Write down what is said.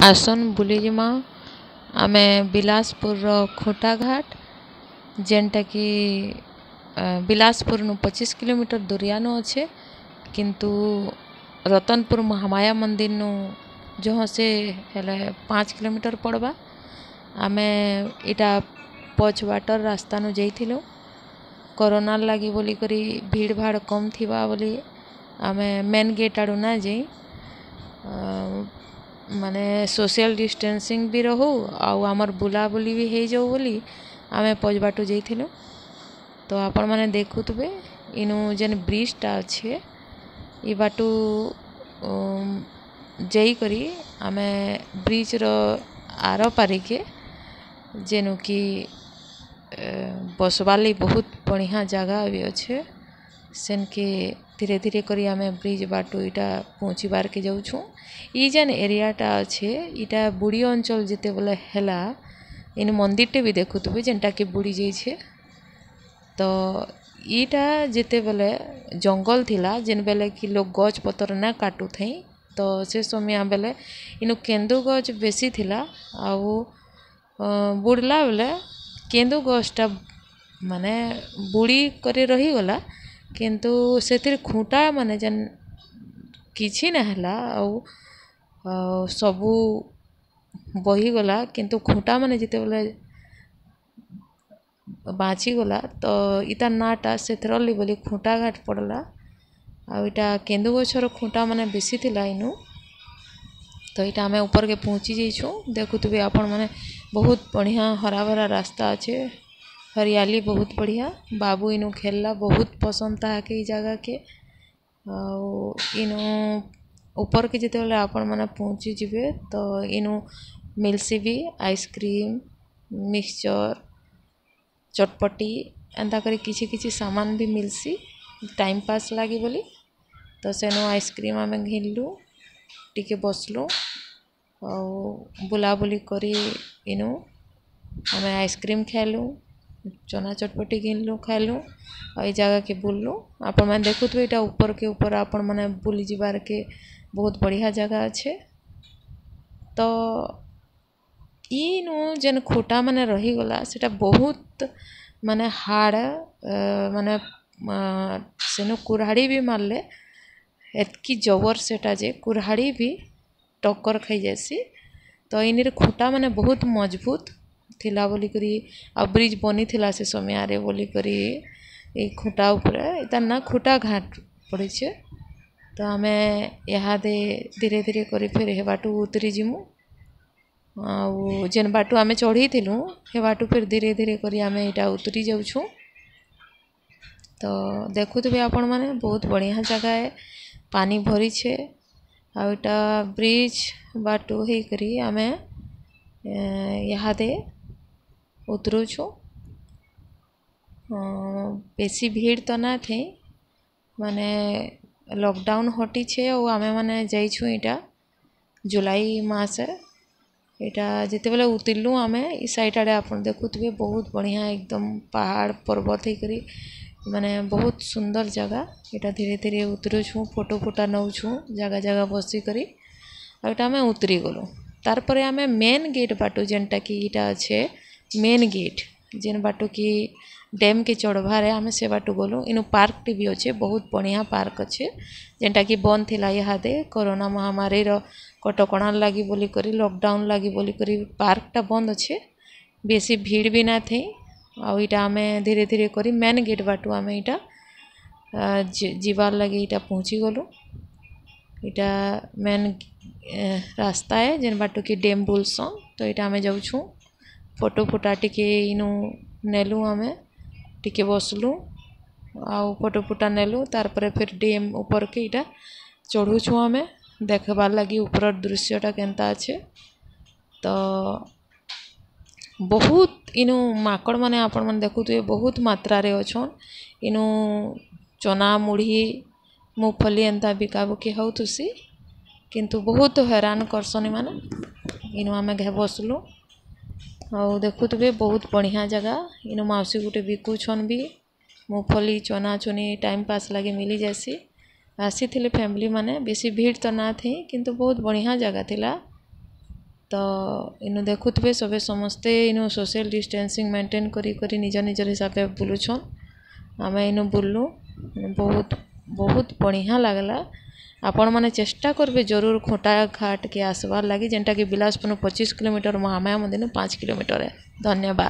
ଆସନ୍ ବୁଲିଯିମା। ଆମେ ବିଲାସପୁରର ଖୁଣ୍ଟାଘାଟ, ଯେନ୍ଟାକି ବିଲାସପୁରନୁ 25 କିଲୋମିଟର ଦୂରିଆନୁ ଅଛେ, କିନ୍ତୁ ରତନପୁର ମହାମାୟା ମନ୍ଦିରନୁ ଜହ ସେ ହେଲେ 5 କିଲୋମିଟର ପଡ଼ବା। ଆମେ ଇଟା ପଛ ବାଟର ରାସ୍ତାନୁ ଯାଇଥିଲୁ। କରୋନାର୍ ଲାଗି ବୋଲିକରି ଭିଡ଼ ଭାଡ଼ କମ୍ ଥିବା ବୋଲି ଆମେ ମେନ୍ ଗେଟ୍ ଆଡ଼ୁ ନା ଯାଇ, ମାନେ ସୋସିଆଲ୍ ଡିଷ୍ଟାନ୍ସିଂ ବି ରହୁ ଆଉ ଆମର୍ ବୁଲାବୁଲି ବି ହେଇଯାଉ ବୋଲି ଆମେ ପଛବାଟୁ ଯାଇଥିଲୁ। ତ ଆପଣମାନେ ଦେଖୁଥିବେ, ଇନୁ ଯେନ୍ ବ୍ରିଜଟା ଅଛେ, ଇ ବାଟୁ ଯାଇକରି ଆମେ ବ୍ରିଜ୍ର ଆର ପାରିକେ, ଯେନୁ କି ବସବାର୍ ଲାଗି ବହୁତ ବଢ଼ିଆ ଜାଗା ବି ଅଛେ, ସେନ୍କେ ଧୀରେ ଧୀରେ କରି ଆମେ ବ୍ରିଜ୍ ବାଟୁ ଇଟା ପହଞ୍ଚିବାର୍କେ ଯାଉଛୁଁ। ଇ ଯେନ୍ ଏରିଆଟା ଅଛେ, ଇଟା ବୁଡ଼ି ଅଞ୍ଚଳ ଯେତେବେଲେ ହେଲା, ଇନୁ ମନ୍ଦିରଟେ ବି ଦେଖୁଥିବେ ଯେନ୍ଟାକି ବୁଡ଼ି ଯାଇଛେ। ତ ଇଟା ଯେତେବେଲେ ଜଙ୍ଗଲ ଥିଲା, ଯେନ୍ ବେଲେ କି ଲୋକ୍ ଗଛ୍ ପତର ନା କାଟୁଥାଇ, ତ ସେ ସମୟ ବେଲେ ଇନୁ କେନ୍ଦୁ ଗଛ ବେଶୀ ଥିଲା। ଆଉ ବୁଡ଼ଲା ବେଲେ କେନ୍ଦୁ ଗଛଟା ମାନେ ବୁଡ଼ି କରି ରହିଗଲା, କିନ୍ତୁ ସେଥିରେ ଖୁଁଟା ମାନେ ଯେନ୍ କିଛି ନା ହେଲା, ଆଉ ସବୁ ବହିଗଲା, କିନ୍ତୁ ଖୁଁଟା ମାନେ ଯେତେବେଲେ ବାଞ୍ଚିଗଲା, ତ ଇତାର୍ ନାଁଟା ସେଥିରଲି ବୋଲି ଖୁଁଟା ଘାଟ ପଡ଼୍ଲା। ଆଉ ଇଟା କେନ୍ଦୁ ଗଛର ଖୁଁଟା ମାନେ ବେଶୀ ଥିଲା ଇନୁ। ତ ଏଇଟା ଆମେ ଉପରକେ ପହଞ୍ଚି ଯାଇଛୁଁ। ଦେଖୁଥିବେ ଆପଣମାନେ, ବହୁତ ବଢ଼ିଆ ହରାଭରା ରାସ୍ତା ଅଛେ, ହରିୟାଲି ବହୁତ ବଢ଼ିଆ। ବାବୁ ଇନୁ ଖେଲଲା, ବହୁତ ପସନ୍ଦ ତାହାକେ ଏଇ ଜାଗାକେ। ଆଉ ଇନୁ ଉପରକେ ଯେତେବେଲେ ଆପଣମାନେ ପହଞ୍ଚିଯିବେ, ତ ଇନୁ ମିଲ୍ସି ବି ଆଇସ୍କ୍ରିମ୍, ମିକ୍ସଚର୍, ଚଟପଟି, ଏନ୍ତା କରି କିଛି କିଛି ସାମାନ ବି ମିଲ୍ସି ଟାଇମ୍ ପାସ୍ ଲାଗି ବୋଲି। ତ ସେନୁ ଆଇସ୍କ୍ରିମ୍ ଆମେ ଘିନ୍ଲୁ, ଟିକେ ବସ୍ଲୁ ଆଉ ବୁଲାବୁଲି କରି ଇନୁ ଆମେ ଆଇସ୍କ୍ରିମ୍ ଖାଇଲୁ, ଚନା ଚଟପଟି ଘିନ୍ଲୁ, ଖାଇଲୁ ଆଉ ଏଇ ଜାଗାକେ ବୁଲ୍ଲୁ। ଆପଣମାନେ ଦେଖୁଥିବେ, ଏଇଟା ଉପରକେ ଉପର ଆପଣମାନେ ବୁଲି ଯିବାର୍କେ ବହୁତ ବଢ଼ିଆ ଜାଗା ଅଛେ। ତ ଇନୁ ଯେନ୍ ଖୁଟା ମାନେ ରହିଗଲା, ସେଟା ବହୁତ ମାନେ ହାର୍ଡ଼, ମାନେ ସେନୁ କୁରାଢ଼ୀ ବି ମାରିଲେ ଏତ୍କି ଜବର ସେଟା ଯେ କୁରାଢ଼ୀ ବି ଟକ୍କର ଖାଇଯାଏସି। ତ ଇନିରେ ଖୁଟା ମାନେ ବହୁତ ମଜବୁତ ଥିଲା ବୋଲିକରି ଆଉ ବ୍ରିଜ୍ ବନିଥିଲା ସେ ସମୟରେ ବୋଲିକରି ଏଇ ଖୁଟା ଉପରେ ତାର୍ ନା ଖୁଟା ଘାଟ ପଡ଼ିଛେ। ତ ଆମେ ଇହାଦେ ଧୀରେ ଧୀରେ କରି ଫେର୍ ହେବାଟୁ ଉତରି ଯିମୁ, ଆଉ ଯେନ୍ ବାଟୁ ଆମେ ଚଢ଼ିଥିଲୁ ହେ ବାଟୁ ଫେର୍ ଧୀରେ ଧୀରେ କରି ଆମେ ଏଇଟା ଉତରି ଯାଉଛୁଁ। ତ ଦେଖୁଥିବେ ଆପଣମାନେ, ବହୁତ ବଢ଼ିଆ ଜାଗା ଏ, ପାନି ଭରିଛେ। ଆଉ ଏଇଟା ବ୍ରିଜ୍ ବାଟୁ ହେଇକରି ଆମେ ଇହାଦେ ଉତରୁଛୁ। ବେଶୀ ଭିଡ଼ ତ ନା ଥେଇ, ମାନେ ଲକଡାଉନ୍ ହଟିଛେ ଆଉ ଆମେମାନେ ଯାଇଛୁଁ ଏଇଟା ଜୁଲାଇ ମାସେ। ଏଇଟା ଯେତେବେଲେ ଉତରଲୁ ଆମେ ଇ ସାଇଟ୍ ଆଡ଼େ, ଆପଣ ଦେଖୁଥିବେ, ବହୁତ ବଢ଼ିଆ ଏକଦମ ପାହାଡ଼ ପର୍ବତ ହେଇକରି, ମାନେ ବହୁତ ସୁନ୍ଦର ଜାଗା। ଏଇଟା ଧୀରେ ଧୀରେ ଉତରୁଛୁଁ, ଫଟୋ ଫୁଟା ନଉଛୁଁ ଜାଗା ଜାଗା ବସିକରି। ଆଉ ଏଇଟା ଆମେ ଉତରି ଗଲୁ। ତାର୍ ପରେ ଆମେ ମେନ୍ ଗେଟ୍ ବାଟୁ, ଯେନ୍ଟାକି ଇଟା ଅଛେ ମେନ୍ ଗେଟ୍, ଯେନ୍ ବାଟୁ କି ଡ୍ୟାମ୍କେ ଚଢ଼ବାରେ, ଆମେ ସେ ବାଟୁ ଗଲୁ। ଇନୁ ପାର୍କଟେ ବି ଅଛେ, ବହୁତ ବଢ଼ିଆ ପାର୍କ ଅଛେ, ଯେନ୍ଟାକି ବନ୍ଦ ଥିଲା ଇହାଦେ କରୋନା ମହାମାରୀର କଟକଣା ଲାଗି ବୋଲିକରି, ଲକଡାଉନ୍ ଲାଗି ବୋଲିକରି ପାର୍କଟା ବନ୍ଦ ଅଛେ। ବେଶୀ ଭିଡ଼ ବି ନା ଥେଇ। ଆଉ ଇଟା ଆମେ ଧୀରେ ଧୀରେ କରି ମେନ୍ ଗେଟ୍ ବାଟୁ ଆମେ ଇଟା ଯିବାର୍ ଲାଗି ଇଟା ପହଞ୍ଚି ଗଲୁ। ଇଟା ମେନ୍ ରାସ୍ତା ଏ, ଯେନ୍ ବାଟୁ କି ଡ୍ୟାମ୍ ବୁଲସନ୍। ତ ଏଇଟା ଆମେ ଯାଉଛୁଁ, ଫଟୋ ଫୁଟା ଟିକେ ଇନୁ ନେଲୁ, ଆମେ ଟିକେ ବସଲୁ ଆଉ ଫଟୋ ଫୁଟା ନେଲୁ। ତାର୍ ପରେ ଫିର୍ ଡ୍ୟାମ୍ ଉପରକେ ଇଟା ଚଢ଼ୁଛୁଁ ଆମେ ଦେଖବାର୍ ଲାଗି ଉପରର ଦୃଶ୍ୟଟା କେନ୍ତା ଅଛେ। ତ ବହୁତ ଇନୁ ମାଙ୍କଡ଼ ମାନେ ଆପଣମାନେ ଦେଖୁଥିବେ, ବହୁତ ମାତ୍ରାରେ ଅଛନ୍। ଇନୁ ଚନା, ମୁଢ଼ି, ମୁଗଫଲି ଏନ୍ତା ବିକାବୁକି ହଉଥୁସି, କିନ୍ତୁ ବହୁତ ହଇରାଣ କରସନ୍ ଏମାନେ। ଇନୁ ଆମେ ଘେ ବସଲୁ ଆଉ ଦେଖୁଥିବେ, ବହୁତ ବଢ଼ିଆ ଜାଗା। ଇନୁ ମାଉସୀ ଗୋଟେ ବିକୁଛନ୍ ବି ମୁଗଫଲି, ଚନା ଚୁନି, ଟାଇମ୍ ପାସ୍ ଲାଗି ମିଲିଯାଏସି। ଆସିଥିଲେ ଫ୍ୟାମିଲି ମାନେ, ବେଶୀ ଭିଡ଼ ତ ନା ଥି, କିନ୍ତୁ ବହୁତ ବଢ଼ିଆ ଜାଗା ଥିଲା। ତ ଇନୁ ଦେଖୁଥିବେ ସବେ ସମସ୍ତେ ଇନୁ ସୋସିଆଲ୍ ଡିଷ୍ଟାନ୍ସିଂ ମେଣ୍ଟେନ୍ କରି କରି ନିଜ ନିଜର ହିସାବରେ ବୁଲୁଛନ୍। ଆମେ ଇନୁ ବୁଲଲୁ, ବହୁତ ବହୁତ ବଢ଼ିଆଁ ଲାଗ୍ଲା। ଆପଣମାନେ ଚେଷ୍ଟା କରିବେ ଜରୁର ଖୁଣ୍ଟାଘାଟକେ ଆସ୍ବାର୍ ଲାଗି, ଯେନ୍ଟାକି ବିଲାସପୁରନୁ 25 କିଲୋମିଟର, ମହାମାୟା ମନ୍ଦିରନୁ 5 କିଲୋମିଟର। ଧନ୍ୟବାଦ।